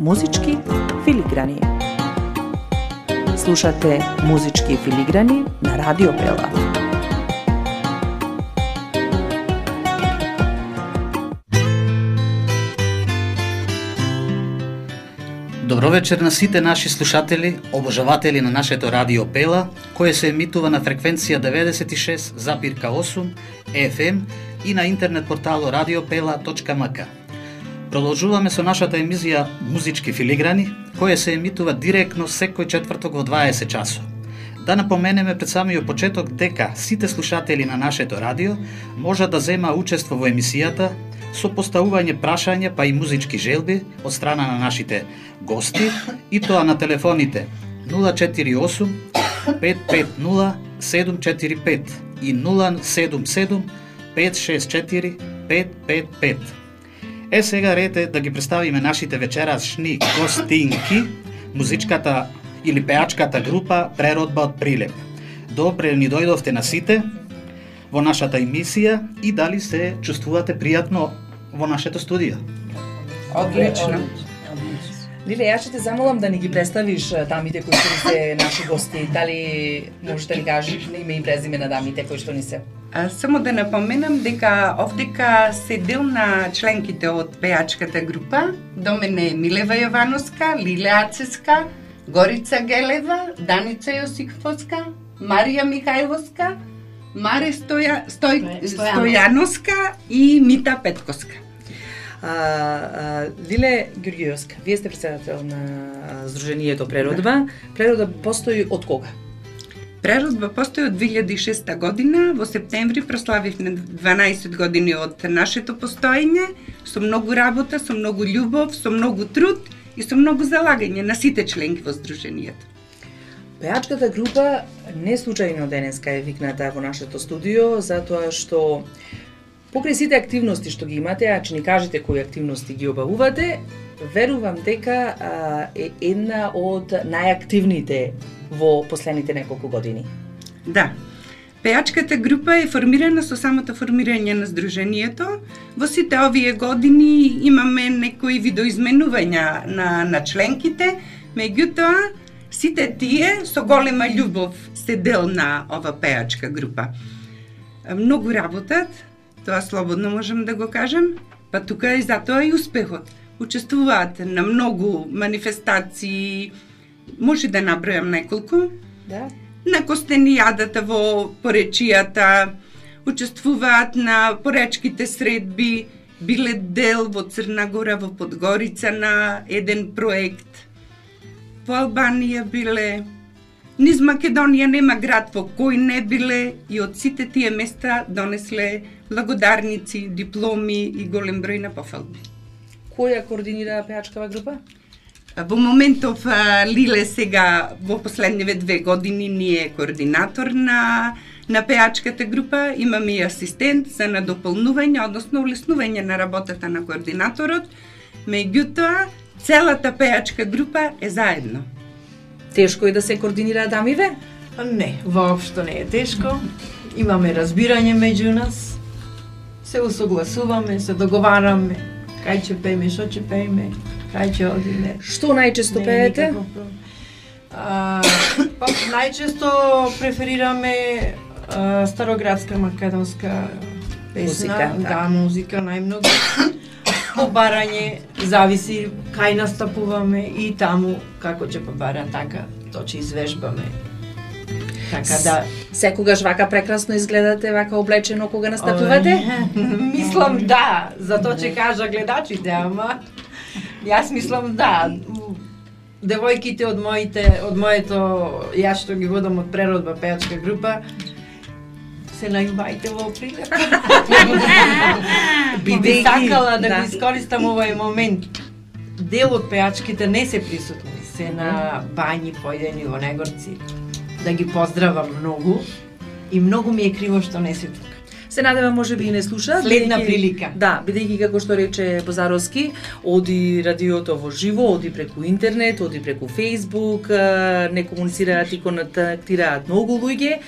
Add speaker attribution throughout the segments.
Speaker 1: Музички филиграни. Слушате Музички филиграни на Радио Пела.
Speaker 2: Добро вечер на сите наши слушатели, обожаватели на нашето Радио Пела, кое се емитува на фреквенција 96,8 FM и на интернет портало radiopela.mk. Продолжуваме со нашата емисија Музички филиграни, кое се емитува директно секој четврток во 20 часот. Да напоменеме пред самиот почеток дека сите слушатели на нашето радио можат да зема учество во емисијата со поставување прашања па и музички желби од страна на нашите гости, и тоа на телефоните 048 550 745 и 077 564 555. Сега ред е да ги представиме нашите вечерашни гостинки, музичката или пеачката група Преродба од Прилеп. Добре ни дојдовте на сите во нашата емисија и дали се чувствувате пријатно во нашето студио?
Speaker 3: Одлично.
Speaker 4: Лиле, јас ќе те замолам да ни ги представиш дамите кои што се наши гости. Дали можеш да ни кажеш име и презиме на дамите кои што ни се?
Speaker 3: Само да напоменам дека овдека се дел на членките од пеачката група. До мене е Милева Јовановска, Лиле Ацеска, Горица Гелева, Даница Јосифовска, Марија Михајловска, Маре Стојановска и Мита Петковска.
Speaker 4: Лиле Ѓурѓиевска, вие сте председател на Сдруженијето Преродба. Преродба постои од кога?
Speaker 3: Преродба постои од 2006 година. Во септември прославивме 12 години од нашето постоење, со многу работа, со многу љубов, со многу труд и со многу залагање на сите членки во Сдруженијето.
Speaker 4: Пеачката група не случајно денеска е викната во нашето студио, затоа што покрај сите активности што ги имате, а че ни кажете кои активности ги обавувате, верувам дека е една од најактивните во последните неколку години.
Speaker 3: Да. Пеачката група е формирана со самото формирање на Сдруженијето. Во сите овие години имаме некои видоизменувања на членките, меѓутоа сите тие со голема љубов се дел на ова пеачка група. Многу работат, тоа слободно можам да го кажам, па тука и затоа и успехот. Учествуваат на многу манифестации, може да набројам неколку.
Speaker 4: Да.
Speaker 3: На Костенијадата во Поречијата, учествуваат на поречките средби, биле дел во Црна Гора, во Подгорица на еден проект. Во Албанија биле, низ Македонија нема град во кој не биле и од сите тие места донесле благодарници, дипломи и голем број на пофалби.
Speaker 4: Која координира пеачкава група?
Speaker 3: Во моментов Лиле сега во последниве 2 години ни е координатор на пеачката група, имаме и асистент за надополнување, односно улеснување на работата на координаторот, меѓутоа целата пеачка група е заедно.
Speaker 4: Тешко е да се координира дамиве?
Speaker 5: Не, воопшто не е тешко. Имаме разбирање меѓу нас. Се усогласуваме, се договараме кај ќе пееме, што ќе пееме, кај ќе одиме.
Speaker 4: Што најчесто пеете?
Speaker 5: Најчесто преферираме староградска македонска песна,
Speaker 4: музика,
Speaker 5: да, музика најмногу. Побарање зависи кај настапуваме и таму како ќе побара, така то ќе извежбаме. Така да
Speaker 4: секогаш вака прекрасно изгледате, вака облечено кога настапувате?
Speaker 5: Мислам да, затоа ќе кажа гледачите, ама јас мислам да. Девојките од моето јас што ги водам од Преродба пеачка група се најубајте во Прилеп. Би сакала да го искористам овој момент. Дел од пеачките не се присутни, се на бањи појдени во Негорци. Да ги поздравам многу и многу ми е криво што не се тука.
Speaker 4: Се надевам можеби и не слушаат.
Speaker 5: Следна прилика.
Speaker 4: Да, бидејќи како што рече Бозаровски, оди радиото во живо, оди преку интернет, оди преку Facebook, не комуницираат и контактираат многу луѓе,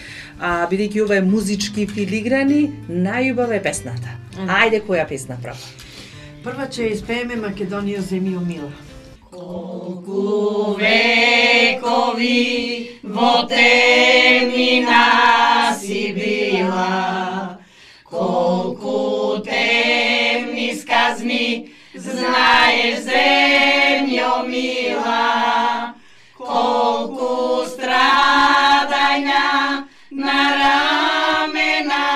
Speaker 4: бидејќи ова е Музички филиграни, најубава е песната. Ајде, која песна права?
Speaker 5: Прва ќе испееме Македонија земи о мила.
Speaker 6: Колку векови во темнина си била, колку темни сказни знаеш, земјо мила, колку страдања на рамена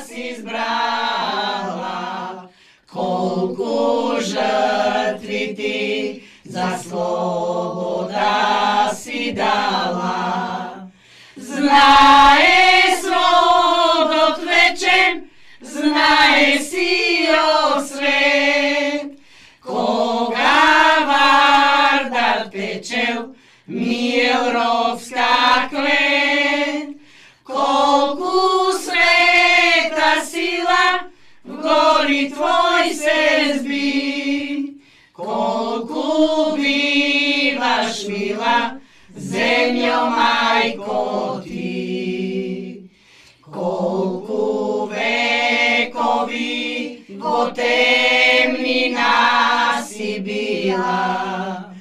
Speaker 6: си избрала, колку жртви ти за слобода си дала. Знае сводот вечен, знае сиот свет, кога Вардар печел Милровска клет, колку света сила в гори твој се зби, колку биваш мила, земјо мајко ти. Колку векови во темнина си била,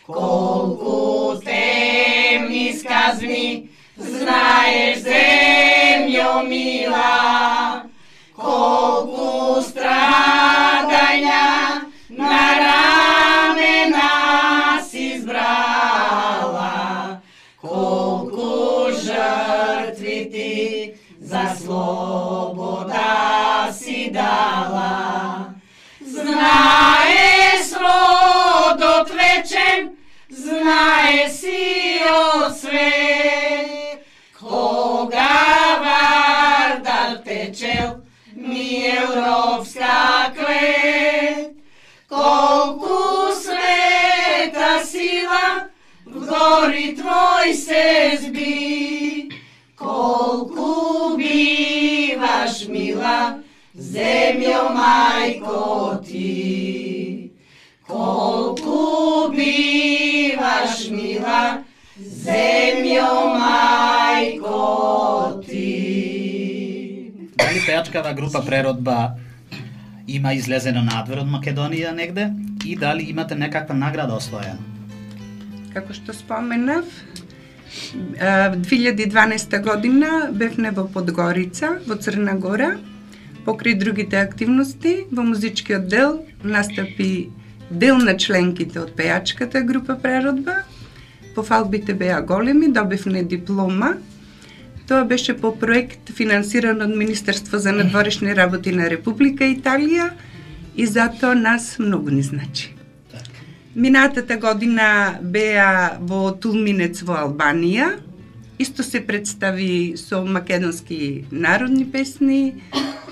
Speaker 6: колку темни сказни знаеш, земјо мила, колку страдања на рамена си избрала, колку жртви ти за слобода си дала. Знае сводот вечен, знае сиот свет, кога Вардар печел Милровска клет, колку света сила в гори твој се зби, колку биваш мила, земјо мајко ти. Колку биваш мила, земјо мајко ти.
Speaker 2: Дали пејачкава група Преродба има излезено надвор од Македонија негде и дали имате некаква награда освоена?
Speaker 3: Како што споменав, 2012 година бевме во Подгорица, во Црна Гора. Покрај другите активности, во музичкиот дел настапи дел на членките од пејачката група Преродба. Пофалбите беа големи, добивме диплома. Тоа беше по проект финансиран од Министерство за надворешни работи на Република Италија и затоа нас многу ни значи. Минатата година беа во Тулминец во Албанија. Исто се представи со македонски народни песни,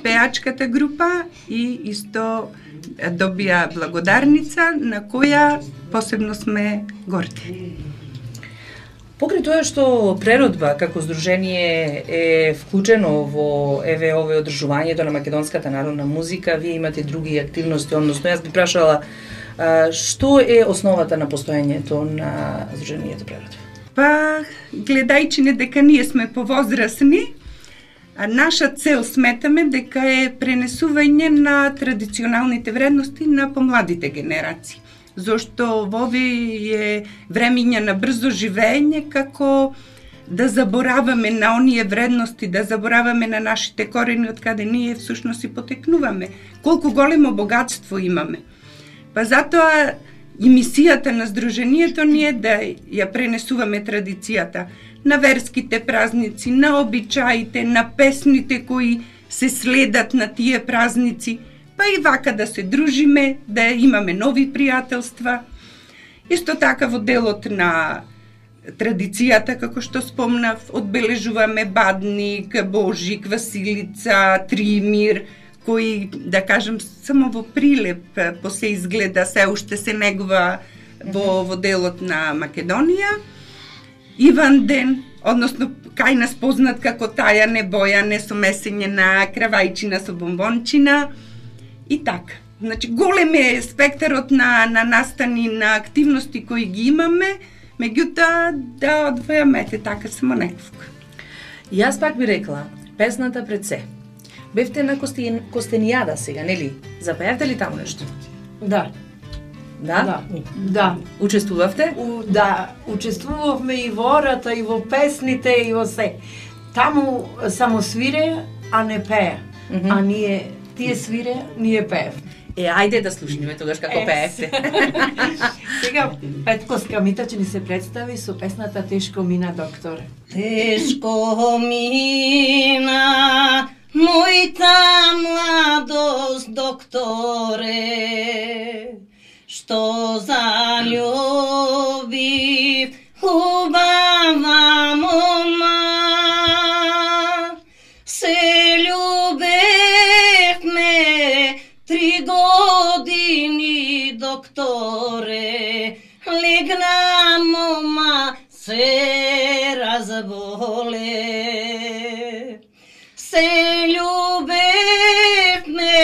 Speaker 3: пејачката група и исто добија благодарница на која посебно сме горди.
Speaker 4: Покрај тоа што Преродба како здружение е вклучено во овој одржувањето на македонската народна музика, вие имате други активности, односно јас би прашала што е основата на постоењето на здружението Преродба?
Speaker 3: Па, гледајќи не дека ние сме повозрасни, наша цел сметаме дека е пренесување на традиционалните вредности на помладите генерации. Зошто во овие времиња на брзо живење, како да забораваме на оние вредности, да забораваме на нашите корени од каде ние всушност и потекнуваме. Колку големо богатство имаме. Па затоа и мисијата на здружението ни е да ја пренесуваме традицијата на верските празници, на обичаите, на песните кои се следат на тие празници, па и вака да се дружиме, да имаме нови пријателства. Исто така во делот на традицијата, како што спомнав, одбележуваме Бадник, Божик, Василица, Тримир, кои, да кажем, само во прилеп се изгледа, се уште се негува во делот на Македонија. Иван ден, односно кај нас познат како тајане, бојане со месење на кравајчина со бомбончина и така. Значи, голем е спектарот на настани, на активности кои ги имаме, меѓутоа да одвојаме така само неколку.
Speaker 4: Јас пак би рекла, песната пред се. Бевте на Костенијада сега, нели? Запеавте ли таму нешто?
Speaker 5: Да.
Speaker 4: Да?
Speaker 5: Да.
Speaker 4: Учествувавте?
Speaker 5: Да, учествувавме и во ората, и во песните, и во се. Таму само свире, а не пее. А тие свире, ние пеев.
Speaker 4: Ајде да слушнеме тогаш како пеевте.
Speaker 5: Сега Петко Скамита ќе ни се представи со песната Тешко мина, докторе.
Speaker 6: Тешко мина мојта младост, докторе, што заљубив хубава мома. Се љубевме 3 години, докторе, легна мома, се разболе. Се љубевме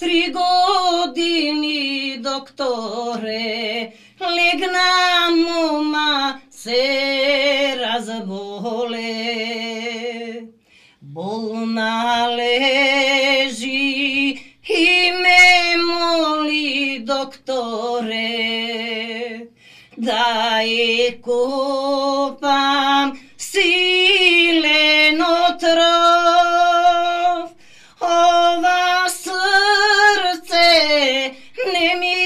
Speaker 6: 3 години, докторе, легна мома, се разболе. Болна лежи и ме моли, докторе, да е копам силен отров. Ова срце не ми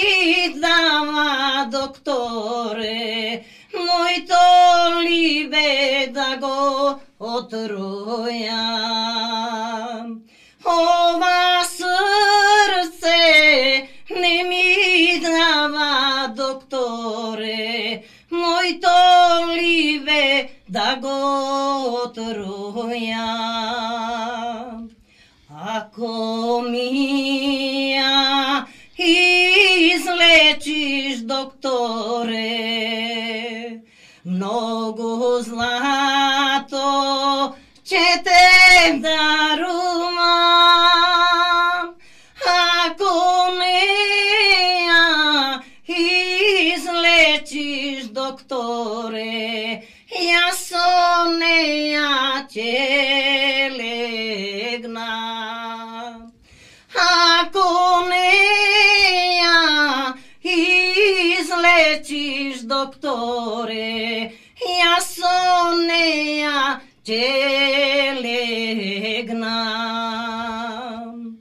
Speaker 6: дава, докторе, мојто либе да го отројам. Ова срце не ми дава, докторе, мојто либе да го отројам. Ако ми ја излечиш, докторе, многу злато ќе те дарувам. Ако не ја излечиш, докторе, јас со неја ќе легнам. Ако не ја излечиш, докторе, јас со неја ќе легнам.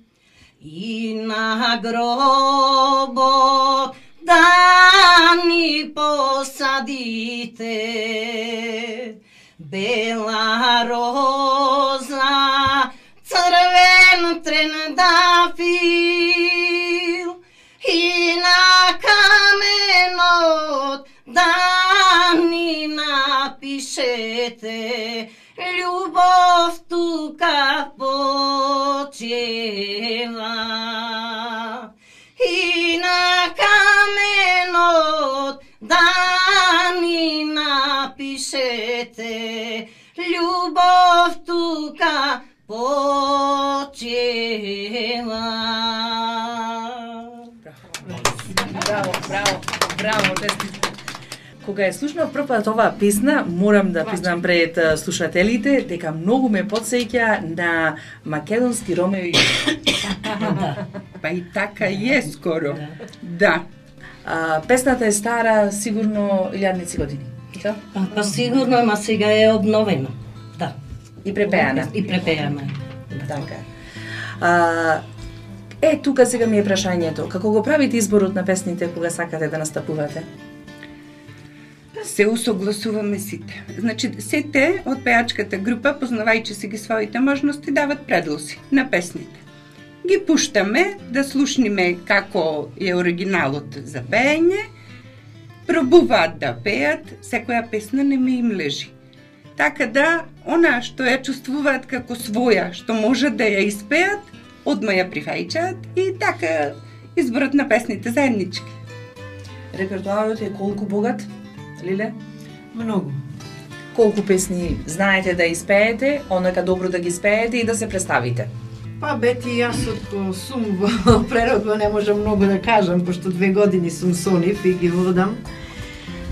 Speaker 6: И на гробот да ни посадите бела роза, црвен трендафил, и на каменот да ни напишете љубов тука почева. И на каменот да ни напишете љубов тука почева.
Speaker 4: Браво, честит. Кога ја слушнав прв пат оваа песна, морам да признам пред слушателите дека многу ме потсеќа на македонски Ромео и Јулија.
Speaker 3: Па и така е скоро. Да.
Speaker 4: Песната е стара сигурно илјадници години.
Speaker 6: Па сигурно, ама сега е обновена. Да.
Speaker 4: И препеана.
Speaker 6: И препеана.
Speaker 4: Така. Тука сега ми е прашањето. Како го правите изборот на песните кога сакате да настапувате?
Speaker 3: Се усогласуваме сите. Значи, сите од пеачката група, познавајќи си ги своите можности, дават предлози на песните. Ги пуштаме да слушниме како е оригиналот за пеење, пробуваат да пеат, секоја песна не ме им лежи. Така да, она што ја чувствуваат како своја, што можат да ја испеат, одма ја прифаќаат и така изборот на песните заеднички.
Speaker 4: Репертуарот е колку богат, Лиле?
Speaker 5: Многу.
Speaker 4: Колку песни знаете да испеете, онака добро да ги испеете и да се представите?
Speaker 5: Па бети, јас отко сум во преродба не можам многу да кажам, пошто 2 години сум со нив и ги водам.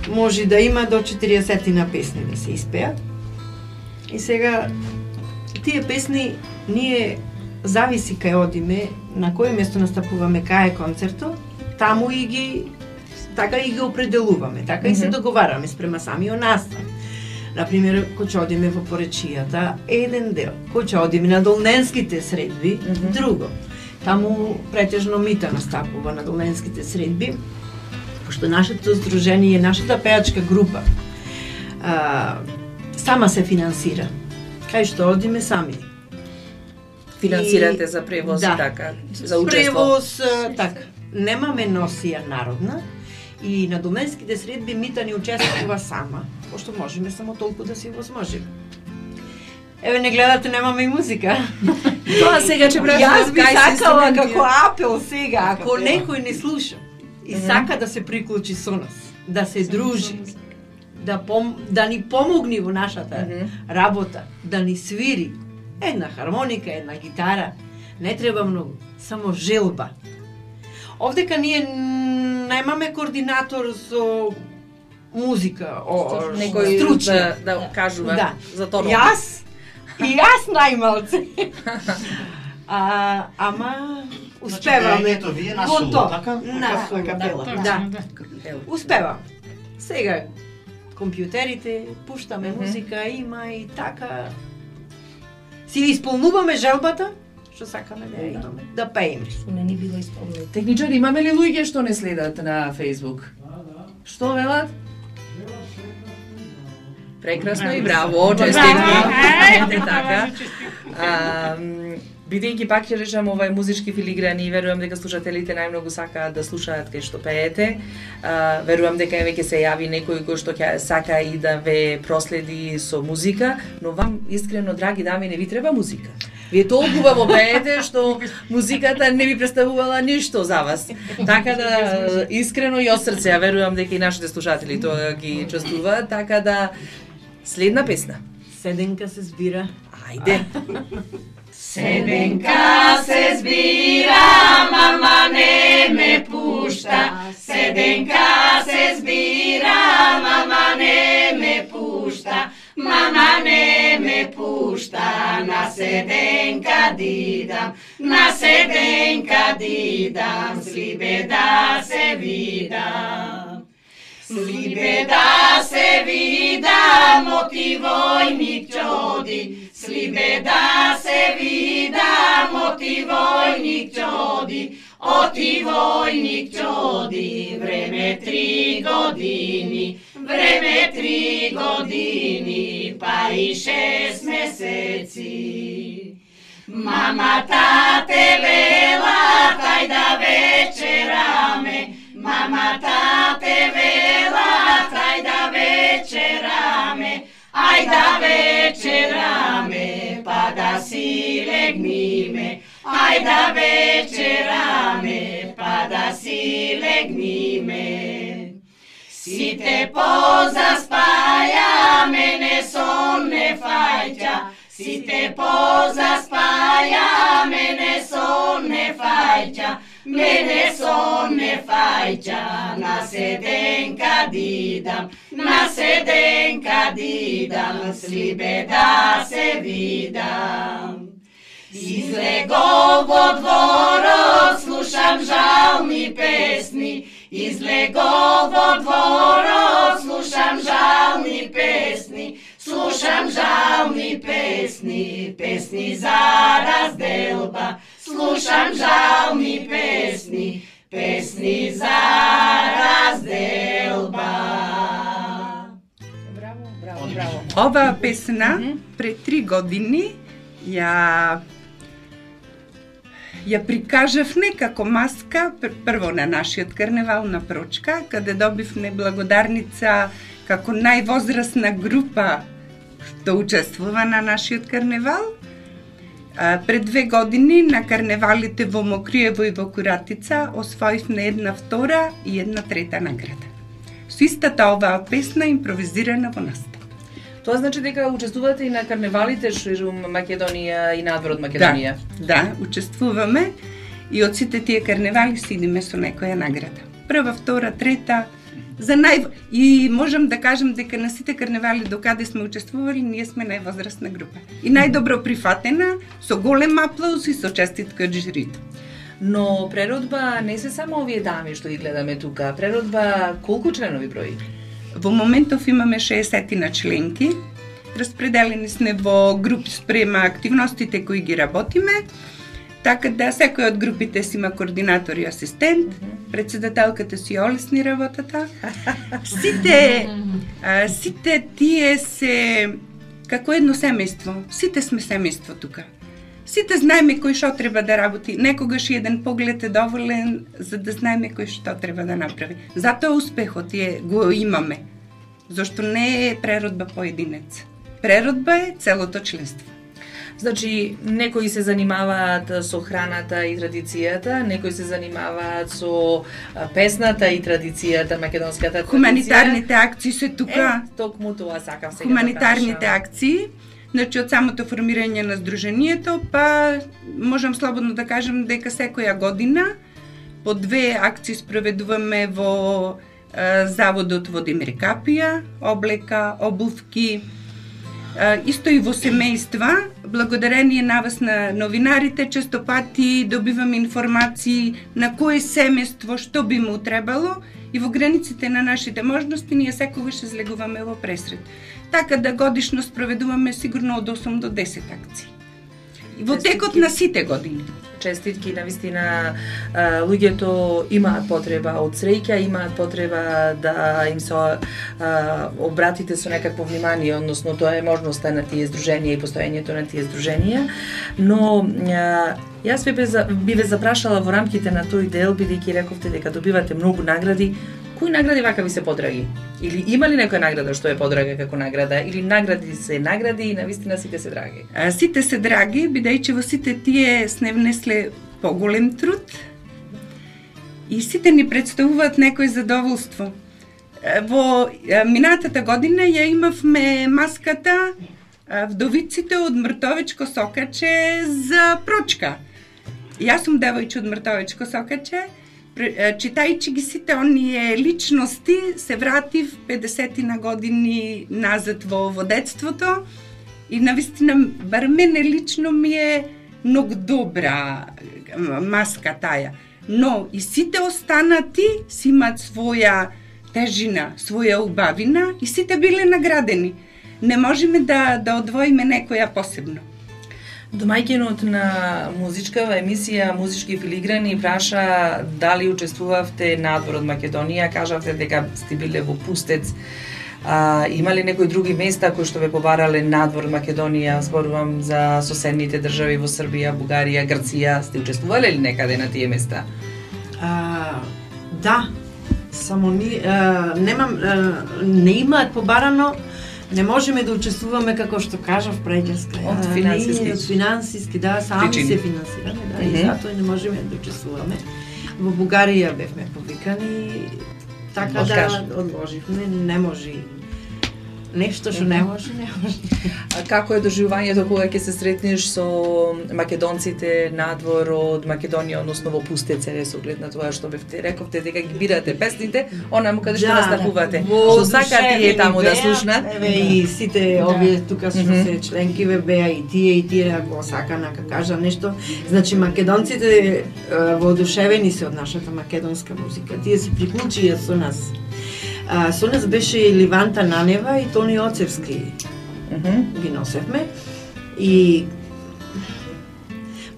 Speaker 5: Може да има до 40 на песни да се испеат. И сега, тие песни ние зависи кај одиме, на кој место настапуваме, кај е концертот, таму и ги така и ги определуваме, така и се договараме спрема самиот настан. Например, кој ќе одиме во поречијата, еден дел. Кој ќе одиме на долненските средби, друго. Таму претежно Мита настапува на долненските средби, пошто нашето здружение, нашата пеачка група сама се финансира. Кај што одиме сами.
Speaker 4: Финансирате за превоз и така, за учество.
Speaker 5: Превоз, така. Немаме носија народна и на долненските средби Мита ни учествува сама, пошто можеме само толку да си возможиме. Еве, не гледате, немаме и музика.
Speaker 4: Тоа сега ќе прашам.
Speaker 5: Јас би сакала како апел сега, ако некој не слуша и сака да се приклучи со нас, да се дружи, да ни помогне во нашата работа, да ни свири една хармоника, една гитара, не треба многу, само желба. Овдека ние немаме координатор со музика,
Speaker 4: некој
Speaker 5: стручен
Speaker 4: да кажува за тоа.
Speaker 5: Јас најмалце. Ама успеваме во тоа. Наша капела. Да. Успевам. Сега компјутерите, пуштаме музика, има и така. Си исполнуваме желбата, што сакаме да имаме, да пееме.
Speaker 6: Што не ни било исполнено.
Speaker 4: Техничари, имаме ли луѓе што не следат на Facebook? Што велат? Прекрасно и браво, честитки. Така. Бидејќи пак ќе речам овај музички филиграни, верувам дека слушателите најмногу сакаат да слушаат кај што пеете. Верувам дека веќе се јави некој кој што ќе сака и да ве проследи со музика, но вам искрено, драги дами, не ви треба музика. Вие толку убаво пеете што музиката не ви представувала ништо за вас. Така да искрено и од срце, ја верувам дека и нашите слушатели тоа ги чувствуваат, така да следна песна.
Speaker 5: Седенка се збира.
Speaker 4: Ајде.
Speaker 7: Седенка се збира, мама не ме пушта. Седенка се збира, мама не ме пушта. Мама не ме пушта, на седенка дидам, на седенка дидам, слибе да се видам. Слибе да се видам, оти војник чоди, слибе да се видам, оти војник чоди, оти војник чоди, време 3 години, време 3 години, па и 6 месеци. Мамата те вела, тај да вечераме, мамата те вела, тај да вечераме, ај да вечераме, па да си легниме, ај да вечераме, па да си легниме. Сите позаспаја, мене сон не фаќа, сите позаспаја, мене сон не фаќа, мене сон не фаќа, на седенка дидам, на седенка дидам, слибе да се видам. Излегов во дворот, слушам жални песни, излегов во дворот, слушам жални песни, слушам жални песни, песни за разделба, слушам жални песни, песни за разделба.
Speaker 4: Браво, браво, браво.
Speaker 3: Оваа песна пред 3 години ја прикажавме како маска прво на нашиот карневал на Прочка, каде добивме благодарница како највозрасна група што учествува на нашиот карневал. Пред 2 години на карневалите во Мокриево и во Куратица освоивме 1 втора и 1 трета награда. Со истата оваа песна импровизирана во настап.
Speaker 4: Тоа значи дека учествувате и на карневалите ширум Македонија и надвор од Македонија?
Speaker 3: Да, учествуваме и од сите тие карневали си идеме со некоја награда. Прва, втора, трета, и можам да кажам дека на сите карневали докаде сме учествували, ние сме највозрасна група. И најдобро прифатена, со голем аплауз и со честитка од жирито.
Speaker 4: Но преродба не се само овие дами што ги гледаме тука. Преродба колку членови брои?
Speaker 3: Во моментов имаме 60 на членки. Распределени сме во групи спрема активностите кои ги работиме. Така да секој од групите си има координатор и асистент, председателката си олесни работата. Сите тие се како едно семејство. Сите сме семејство тука. Сите знаеме кој што треба да работи. Некогаш и еден поглед е доволен за да знаеме кој што треба да направи. Затоа успехот го имаме. Зашто не е преродба поединец. Преродба е целото членство.
Speaker 4: Значи, некои се занимаваат со храната и традицијата, некои се занимаваат со песната и традицијата, македонската традиција.
Speaker 3: Хуманитарните акции се тука.
Speaker 4: Токму тоа сакам сега
Speaker 3: Хуманитарните акции, значи од самото формирање на здруженијето, па можам слободно да кажем дека секоја година по 2 акции спроведуваме во заводот во Демир Капија, облека, обувки, исто и во семејства. Благодарение на вас на новинарите, често пати добиваме информации на кое семејство што би му требало и во границите на нашите можности ние секогаш излегуваме во пресред. Така да годишно спроведуваме сигурно од 8 до 10 акции. Во текот на сите години.
Speaker 4: Честитки, навистина, луѓето имаат потреба од среќа, имаат потреба да им се обратите со некакво внимание, односно тоа е можноста на тие здруженија и постоењето на тие здруженија, но јас би ве запрашала во рамките на тој дел, бидејќи рековте дека добивате многу награди. Кои награди вака ви се подраги? Или има ли некоја награда што е подрага како награда? Или награди се награди и навистина сите се драги?
Speaker 3: Сите се драги, бидејќи во сите тие сне внесле поголем труд и сите ни представуваат некој задоволство. Во минатата година ја имавме маската Вдовиците од Мртовечко Сокаче за прочка. Јас сум девојче од Мртовечко Сокаче. Читајќи ги сите оние личности, се вратив 50 на години назад во детството и навистина, бар мене лично ми е многу добра маска таја. Но и сите останати си имаат своја тежина, своја убавина и сите биле наградени. Не можеме да одвоиме некоја посебно.
Speaker 4: Домаќинот на музичкава емисија Музички филиграни праша дали учествувавте надвор од Македонија, кажавте дека сте биле во Пустец. Има ли некои други места кои што ве побарале надвор од Македонија? Зборувам за соседните држави во Србија, Бугарија, Грција. Сте учествувале ли некаде на тие места?
Speaker 5: Да, само не имаат побарано. Не можеме да учествуваме, како што кажав преđeска.
Speaker 4: Од
Speaker 5: финансиски, да, сами се финансираме, да, и затоа не можеме да учествуваме. Во Бугарија бевме повикани, така да одложивме, не може. Нешто што не може, не може.
Speaker 4: Како е доживувањето кога ќе се сретнеш со македонците надвор од Македонија, односно во Пустец, со оглед на тоа што рековте дека ги бирате песните, онаму каде што настапувате. Што сакате е таму да слушнат?
Speaker 5: Еве и сите овие тука што се членки беа и тие го сакана, како кажа нешто. Значи македонците воодушевени се од нашата македонска музика. Тие се приклучија со нас. Со нас беше и Ливанта Нанева и Тони Оцевски. Ги носевме. И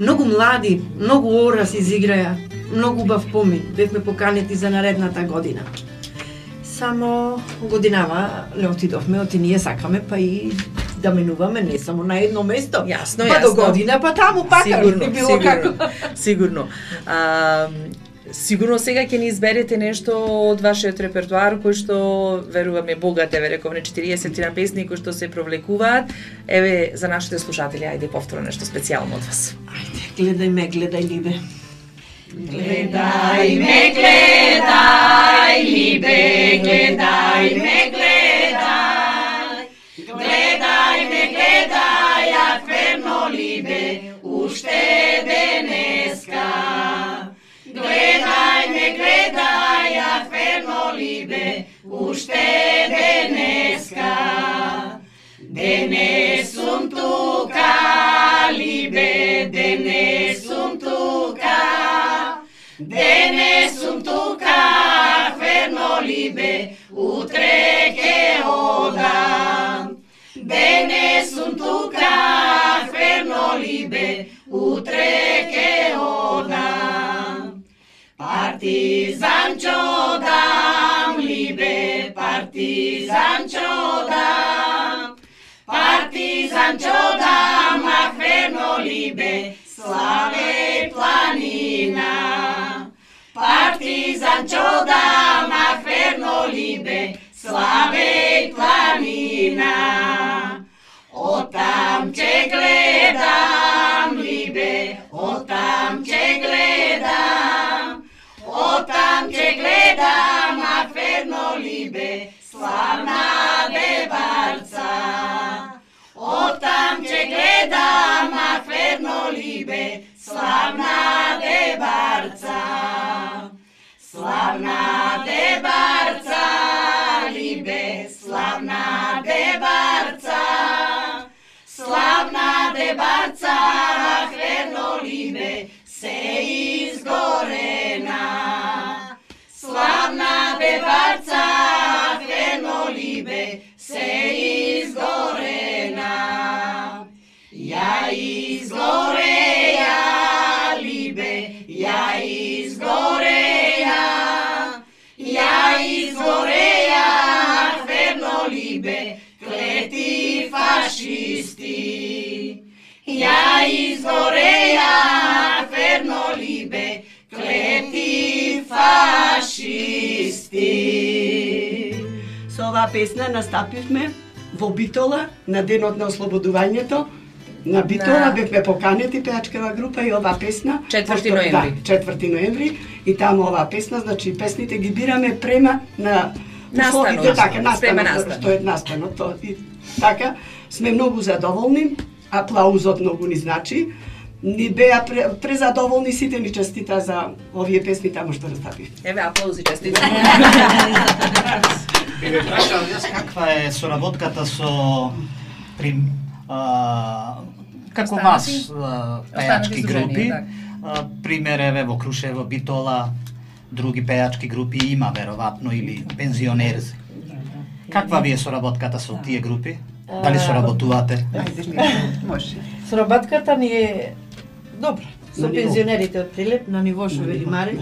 Speaker 5: многу млади, многу орас изиграја, многу убав помин. Бевме поканети за наредната година. Само годинава не отидовме, оти ние сакаме па и да менуваме не само на едно место.
Speaker 4: Јасно,
Speaker 5: па до година, па таму пака.
Speaker 4: Сигурно. Сигурно сега ќе ни изберете нешто од вашиот репертуар кој што веруваме богат, еве рековме 40 на песни кои што се провлекуваат. Еве за нашите слушатели, ајде повторно нешто специјално од вас.
Speaker 5: Ајде, гледај ме, Либе.
Speaker 7: Гледај ме, Либе, гледај ме, гледај ме, ја ферно Либе, уште денеска. Гледај ме, ја ферно Либе, уште денеска. Денес сум тука, Либе, денес сум тука. денес сум тука, ферно либе, утре ке одам. Денес сум тука, ферно либе, утре ке одам. Партизанчо дам, либе, партизанчо дам. Партизанчo dam, a ferno libe, slave planina. Partizančo dam, a ferno libe, slave planina. O tam te gledam, libe, o tam te gledam. O tam te gledam, a ferno libe, slavna debarca. O tam te gledam, a ferno libe, slavna debarca. Slavna debarca, libe, slavna debarca. Slavna debarca, a ferno libe, se izgorena. Slavna debarca, a ferno libe, se izgorena. Ja izgoreja, libe, ja izgoreja. Ja izgoreja, ferno libe, kleti fašisti. Ja izgoreja, ferno libe, kleti fašisti.
Speaker 8: Со оваа песна настапивме во Битола на денот на ослободувањето. На Битола бевме поканети пеачкава група и оваа песна
Speaker 4: 4 ноември.
Speaker 8: Да, 4 ноември и таму оваа песна, значи песните ги бираме према на условите, така настанот, што е настанот, тоа и така сме многу задоволни, аплаузот многу ни значи. Ни беа презадоволни, сите ни честита за овие песни таму што настапив.
Speaker 4: Еве аплаузи честита.
Speaker 2: Еве прашам јас каква е соработката со како вас пејачки групи, пример еве во Крушево, Битола, други пејачки групи има веројатно или пензионерзи. Каква ви е соработката со тие групи? Дали соработувате?
Speaker 3: Може.
Speaker 5: Соработката ни е добра. Со пензионерите од Прилеп на ниво Шовели Маре.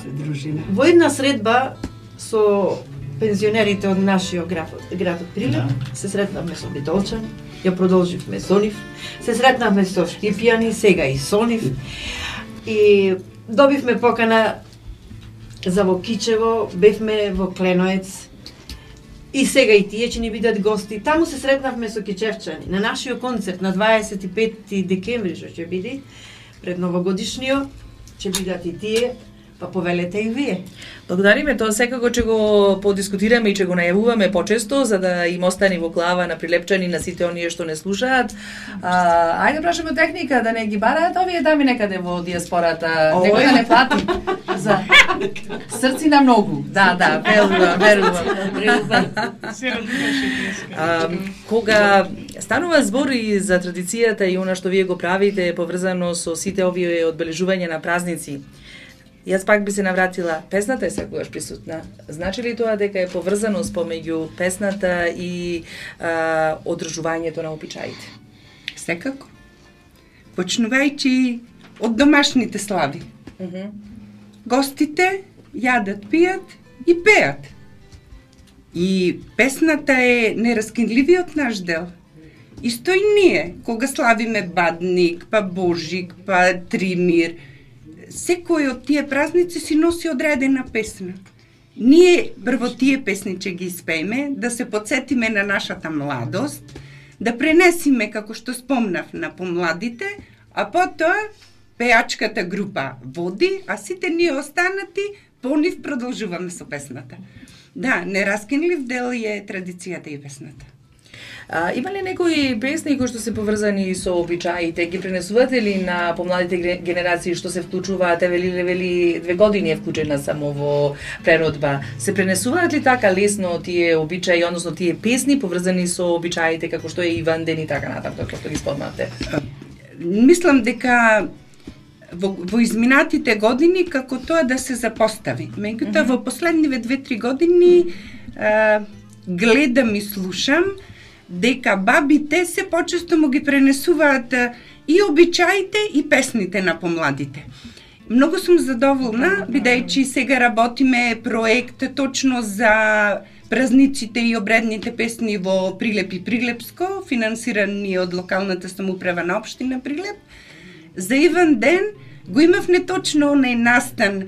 Speaker 8: Се дружиме.
Speaker 5: Во една средба со пензионерите од нашиот град од Прилеп, се сретнавме со битолчани, ја продолживме со нив, се сретнавме со Штипјани, сега и со нив, и добивме покана за во Кичево, бевме во Кленоец, и сега и тие ќе ни бидат гости. Таму се сретнавме со кичевчани. На нашиот концерт на 25 декември, што ќе биде, пред новогодишниот, ќе бидат и тие, па повелете и вие.
Speaker 4: Благодариме, тоа секако ќе го подискутираме и ќе го најавуваме почесто, за да им остане во глава на прилепчани, на сите оние што не слушаат. Ајде прашаме техника да не ги бараат овие дами некаде во диаспората, некој да не плати за срци на многу. Да, верувам. Кога станува збор и за традицијата и она што вие го правите поврзано со сите овие одбележувања на празници, јас пак би се навратила, песната е секогаш присутна. Значи ли тоа дека е поврзаност помеѓу песната и одржувањето на обичаите?
Speaker 3: Секако. Почнувајќи од домашните слави. Гостите јадат, пијат и пеат. И песната е нераскинливиот наш дел. Исто и ние, кога славиме Бадник, па Божик, па Тримир, секој од тие празници си носи одредена песна. Ние прво тие песни ќе ги испееме, да се подсетиме на нашата младост, да пренесиме, како што спомнав, на помладите, а потоа пеачката група води, а сите ние останати по нив продолжуваме со песната. Да, нераскинлив дел е традицијата и песната.
Speaker 4: Има ли некои песни кои што се поврзани со обичаите? Ги пренесувате ли на помладите генерации што се вклучуваат? Вели 2 години е вклучена само во преродба. Се пренесуваат ли така лесно тие обичаи, односно тие песни поврзани со обичаите, како што е Иван ден и така натаму, како што ги спомнате?
Speaker 3: Мислам дека во изминатите години како тоа да се запостави. Меѓутоа во последниве 2-3 години гледам и слушам дека бабите се почесто му ги пренесуваат и обичаите и песните на помладите. Многу сум задоволна, бидејќи сега работиме проект точно за празниците и обредните песни во Прилеп и Прилепско, финансирани од локалната самоуправа на општина Прилеп. За Иван ден го имавме точно онај настан,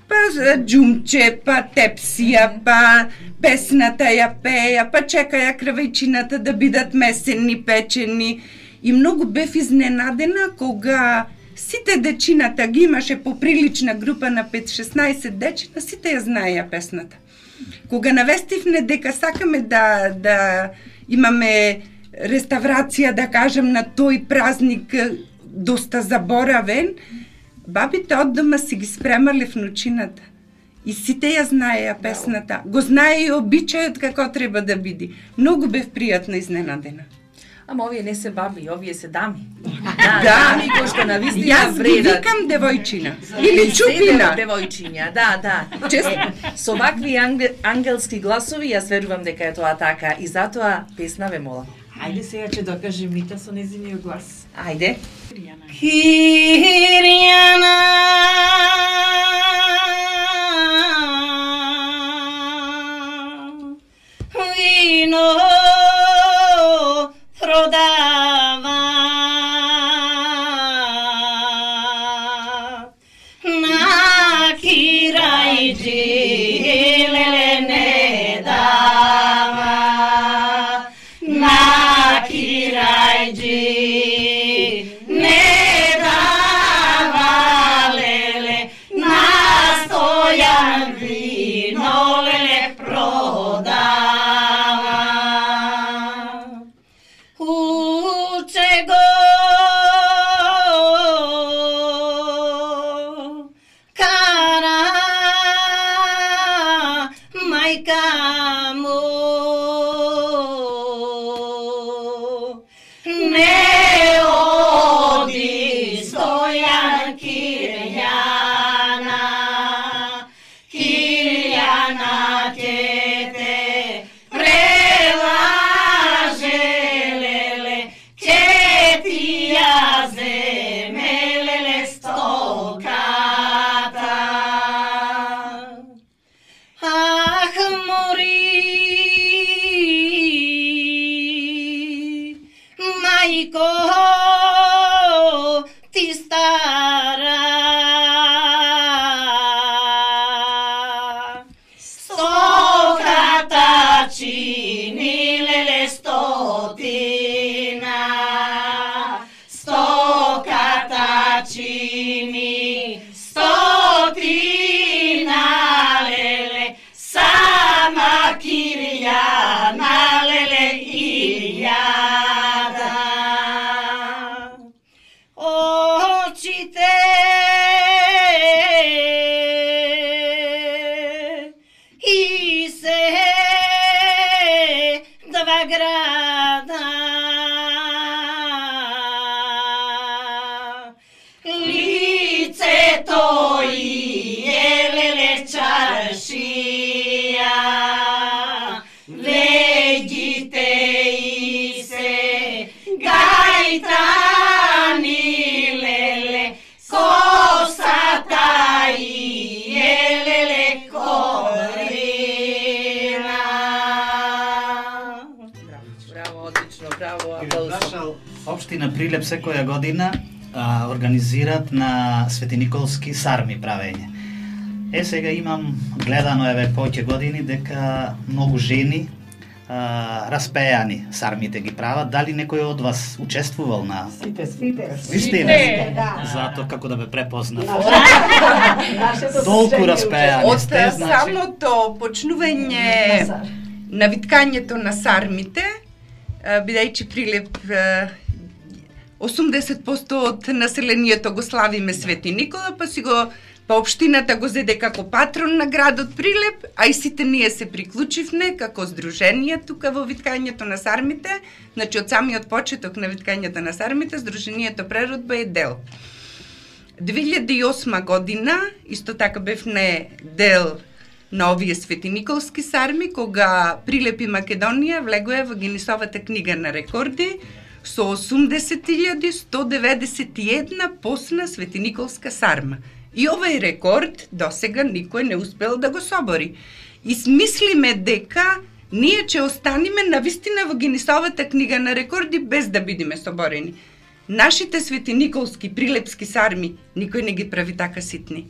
Speaker 3: па џумче, па тепсија, па песната ја пеја, па чекаја кравајчината да бидат месенни, печени. И многу бев изненадена кога сите дечината ги имаше поприлична група на 5-16 дечина, сите ја знаеја песната. Кога навестивме дека сакаме да имаме реставрација, да кажем, на тој празник доста заборавен, бабите од дома си ги спремале внучината. И сите ја знаеја песната. Го знае и обичајот како треба да биде. Многу бев пријатно изненадена.
Speaker 4: Ама овие не се баби, овие се дами.
Speaker 3: Дами
Speaker 4: кои што навистина
Speaker 3: јас ги
Speaker 4: вредат.
Speaker 3: викам девојчина. Или чупина.
Speaker 4: Девојчиња, да. Со вакви ангелски гласови, јас верувам дека е тоа така. И затоа песна ве молам.
Speaker 5: Ајде сега ќе докаже Мита со незиниот глас.
Speaker 4: Ајде.
Speaker 6: Кирјана вино продава на Кирајджи леле не дава на Кирајджи не дава леле настојан вино леле продава уче го кара мајка му не оди стојан Кирјана ќе те прелаже леле ќе ти ја земе леле стоката ах мори мајко ти стара стоката чини леле стотина стоката чини стотина леле сама Кирјана леле илјада очите и се два града лицето и леле чаршија вегите и се гајтани леле косата и леле корина
Speaker 4: Браво, одлично, браво, аплауз.
Speaker 2: Општина Прилеп секоја година организираат на Свети Николски сарми правење. Сега имам гледано повеќе години дека многу жени распејани сармите ги прават. Дали некој од вас учествувал на... Сите. Затоа како да ме препознав. Толку распејани
Speaker 3: Од
Speaker 2: сте, значи...
Speaker 3: самото почнување на виткањето на сармите, бидејќи Прилеп 80% од населението го славиме Свети Никола, па општината го зеде како патрон на градот Прилеп, а и сите ние се приклучивме како здружение тука во виткањето на сармите. Значи од самиот почеток на виткањето на сармите, здруженијето Преродба е дел. 2008 година, исто така бевме дел на овие светиниколски сарми, кога Прилепи Македонија влегоја во Гинисовата книга на рекорди со 80.191 посна светиниколска сарма. И овој рекорд досега никој не успел да го собори. И смислиме дека ние ќе останеме навистина во Гинисовата книга на рекорди без да бидеме соборени. Нашите светиниколски прилепски сарми никој не ги прави така ситни.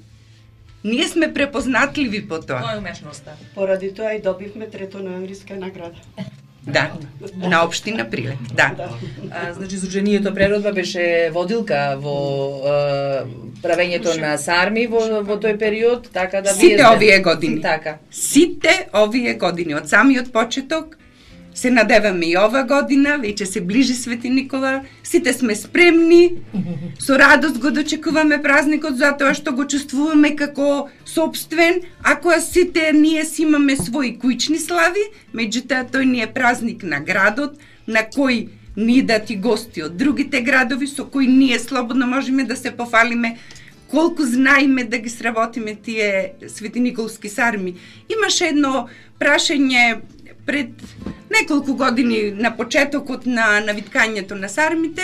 Speaker 3: Ние сме препознатливи по тоа.
Speaker 4: Тоа е умешноста.
Speaker 8: Поради тоа и добивме 3-то ноемвриска награда.
Speaker 3: Да, на општина Прилеп, да.
Speaker 4: Значи, Сдруженијето Преродба беше водилка во правењето на сарми во тој период, така да
Speaker 3: Сите овие години.
Speaker 4: Така.
Speaker 3: Сите овие години, од самиот почеток, се надеваме и ова година, веќе се ближи Свети Никола, сите сме спремни, со радост го дочекуваме празникот, затоа што го чувствуваме како собствен, ако сите ние си имаме своји кујчни слави, меѓутоа тој ни е празник на градот, на кој ни дати гости од другите градови, со кои ние слободно можеме да се пофалиме колку знаеме да ги сработиме тие светиниколски сарми. Имаше едно прашање пред неколку години на почетокот на виткањето на сармите,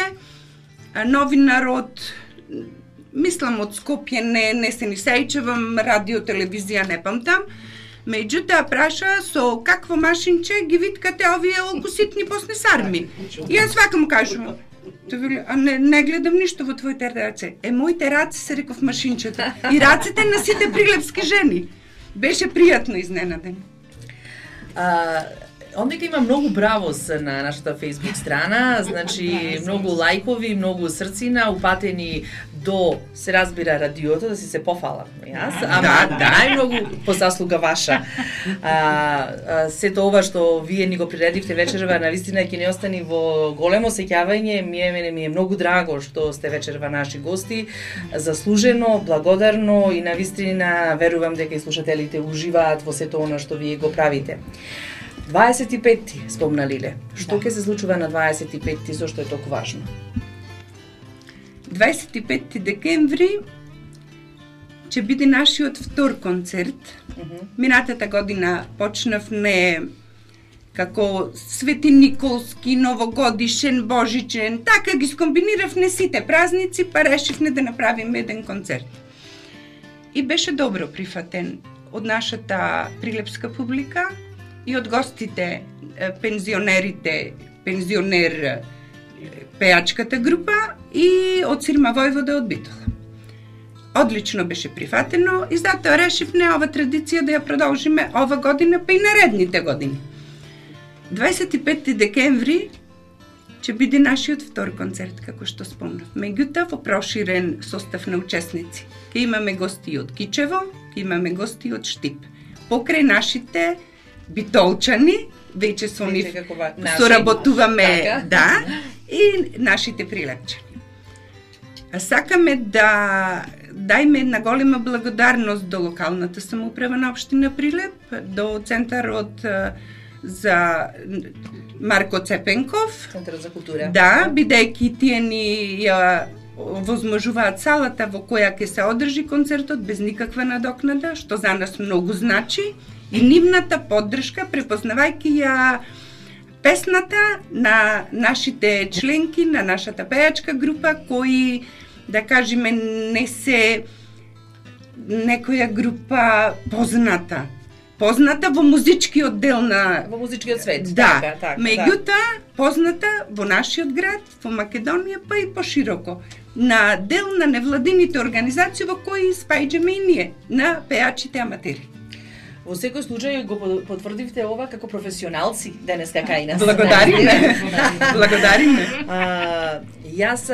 Speaker 3: новинар од, мислам од Скопје, не се ни сеќавам, радио, телевизија, не памтам, меѓутоа праша со какво машинче ги виткате овие олку ситни посни сарми. И јас вака му кажувам, а не гледам ништо во твоите раце. Моите раце се реков машинчето. И рацете на сите прилепски жени. Беше пријатно изненаден.
Speaker 4: Ондека има многу бравос на нашата Facebook страна, значи многу лајкови, многу срцина упатени до, се разбира, радиото, да си се пофалам јас, ама најмногу по заслуга ваша. Сето ова што вие ни го приредивте вечерва, навистина ќе не остани во големо сеќавање, ми е многу драго што сте вечерва наши гости, заслужено, благодарно и навистина верувам дека и слушателите уживаат во сето она што вие го правите. 25-ти спомна Лиле. Што ќе се случува на 25-ти, зошто е толку важно?
Speaker 3: 25 декември ќе биде нашиот втор концерт. Минатата година почнавме како светиниколски, новогодишен, божичен, така ги скомбиниравме сите празници, па решивме да направиме еден концерт. И беше добро прифатен од нашата прилепска публика и од гостите, пензионер пеачката група и од Сирма Војвода од Битола. Одлично беше прифатено и затоа решивме ова традиција да ја продолжиме ова година, па и наредните години. 25 декември ќе биде нашиот втор концерт, како што спомнав. Меѓутоа, во проширен состав на учесници. Ке имаме гости од Кичево, ке имаме гости од Штип. Покрај нашите битолчани, веќе со нив соработуваме, да, и нашите прилепчани. Сакаме да дајме една голема благодарност до локалната самоуправа на општина Прилеп, до Центарот за Марко Цепенков.
Speaker 4: Центарот за култура.
Speaker 3: Да, бидејќи тие ни ја возможуваат салата во која ќе се одржи концертот без никаква надокнада, што за нас многу значи, и нивната поддршка, препознавајќи ја песната на нашите членки, на нашата пејачка група, кои, да кажеме, не се некоја група позната во музичкиот дел на...
Speaker 4: Во музичкиот свет,
Speaker 3: да.
Speaker 4: така.
Speaker 3: Меѓутоа, позната во нашиот град, во Македонија, па и пошироко, на дел на невладините организации во кои спаѓаме и ние, на пеачите аматери.
Speaker 4: Во секој случај го потврдивте ова како професионалци денеска кај нас.
Speaker 3: Благодариме. Благодариме.
Speaker 4: Јас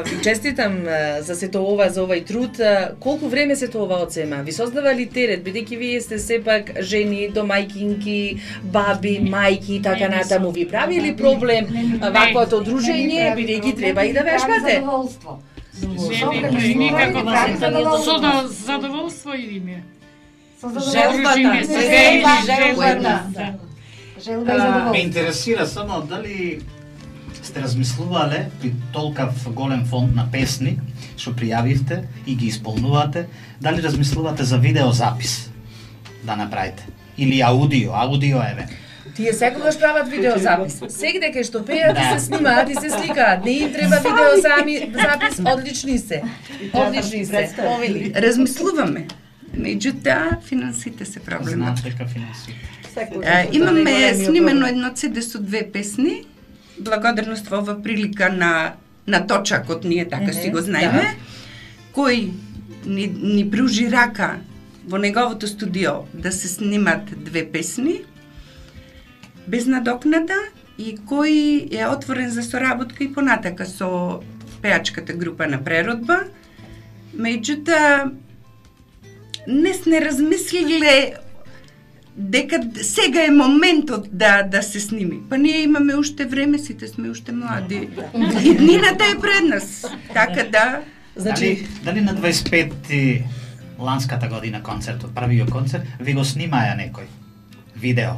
Speaker 4: ви честитам за сето ова, за овај труд. Колку време сето ова одзема? Ви создава ли терет, бидејќи вие сте сепак жени, домајкинки, баби, мајки и така натаму? Ви прави ли проблем ваквото дружење, бидејќи треба и да вежбате?
Speaker 9: Никако да задоволство или ми?
Speaker 2: Ме интересира само дали сте размислувале при толкав голем фонд на песни што пријавивте и ги исполнувате, дали размислувате за видеозапис да направите? Или аудио еве?
Speaker 4: Тие секогаш прават видеозапис. Сегде кај што пеат и се снимаат и се сликаат. Не им треба видеозапис, одлични се. Одлични се. Повели.
Speaker 3: Размислуваме. Меѓутоа, финансите се проблемот.
Speaker 2: Знаат дека финансите.
Speaker 3: Имаме снимено едно CD со 2 песни. Благодарност во ова прилика на Точакот, ние така си го знаеме, кој ни пружи рака во неговото студио да се снимат 2 песни без надокнада и кој е отворен за соработка и понатака со пеачката група на Преродба. Меѓутоа, не размислиле дека сега е моментот да се сними. Па ние имаме уште време, сите сме уште млади. И днината е пред нас. Така да...
Speaker 2: Значи, дали на 25 ланската година концертот, првиот концерт, ви го снимаја некој? Видео?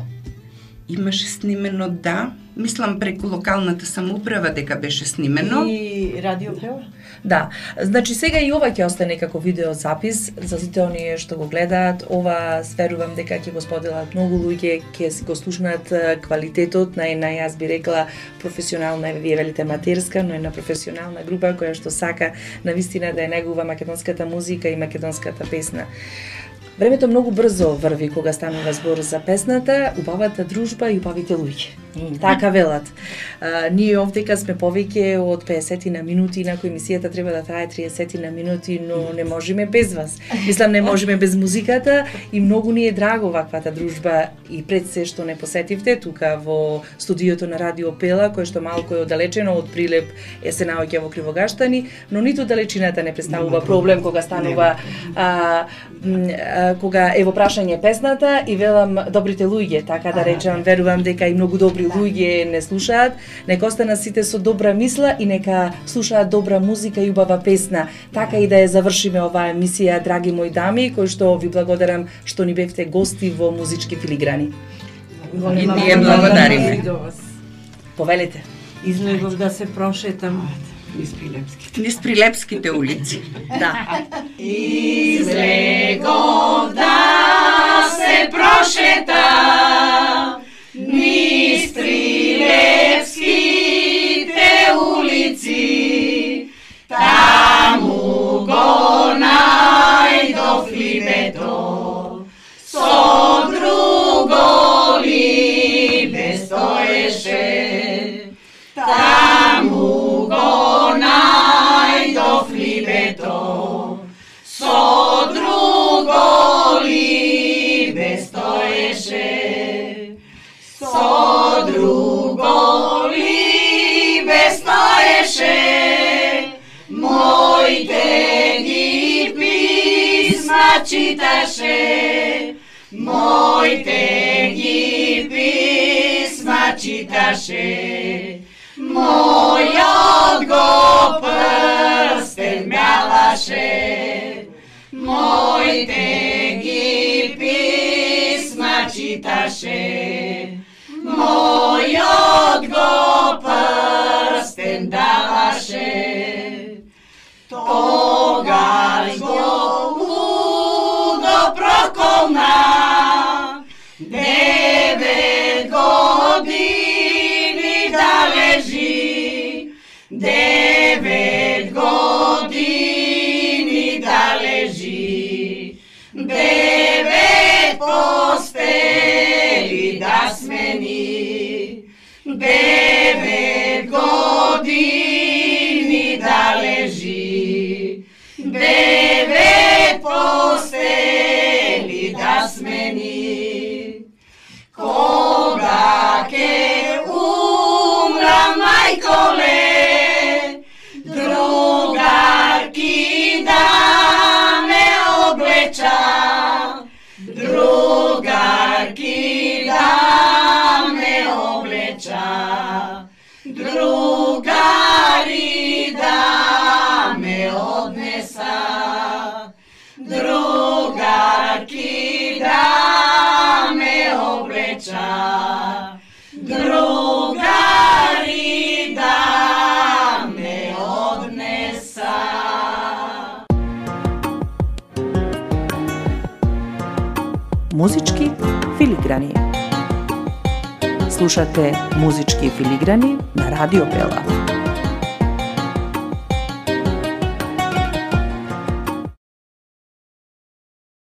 Speaker 3: Имаше снимено, да. Мислам преку локалната самоуправа дека беше снимено.
Speaker 5: И радио пева?
Speaker 4: Да, значи сега и ова ќе остане како видеозапис за сите оние што го гледаат. Ова сверувам дека ќе го споделат многу луѓе, ќе си го слушнат квалитетот на една, јас би рекла, професионална, вие велите матерска, но една професионална група која што сака навистина да ја негува македонската музика и македонската песна. Времето многу брзо врви кога станува збор за песната, убавата дружба и убавите луѓе. Така велат. Ние овдека сме повеќе од 50 на минути, инаку емисијата треба да трае 30 на минути, но не можеме без вас. Мислам, не можеме без музиката и многу ни е драго ваквата дружба и пред се што не посетивте тука во студиото на Радио Пела, кој што малку е оддалечено од Прилеп, се наоѓа во Кривогаштани, но ниту далечината не представува проблем кога станува кога е во прашање песната и велам добрите луѓе, така да речам, верувам дека и многу добри луѓе не слушаат, нека останат сите со добра мисла и нека слушаат добра музика и убава песна. Така и да ја завршиме оваа емисија, драги мои дами, кои што ви благодарам што ни бевте гости во Музички филиграни.
Speaker 3: И ние благодариме.
Speaker 4: Повелите.
Speaker 5: Излегов да се прошетам.
Speaker 3: Низ Прилепските улици.
Speaker 4: Да.
Speaker 7: Излегов да се прошетам низ Прилепските улици, таму го најдов либето, со друго либе стоеше, таму го најдов либето, со друго либе стоеше, со друго либе стоеше, моите ги писма читаше, моите ги писма читаше, мојот го прстен мјалаше, моите ги писма читаше, мојот го прстен даваше. Тогаш го лудо проколна, 9 години да лежи, 9 години да лежи, 9 постели да смени, 9 години да лежи, 9 постели да смени. Кога ке умра мајколе, другарки да ме облеча, другарки да ме облеча,
Speaker 1: Музички филиграни. Слушате Музички филиграни на Радио Пела.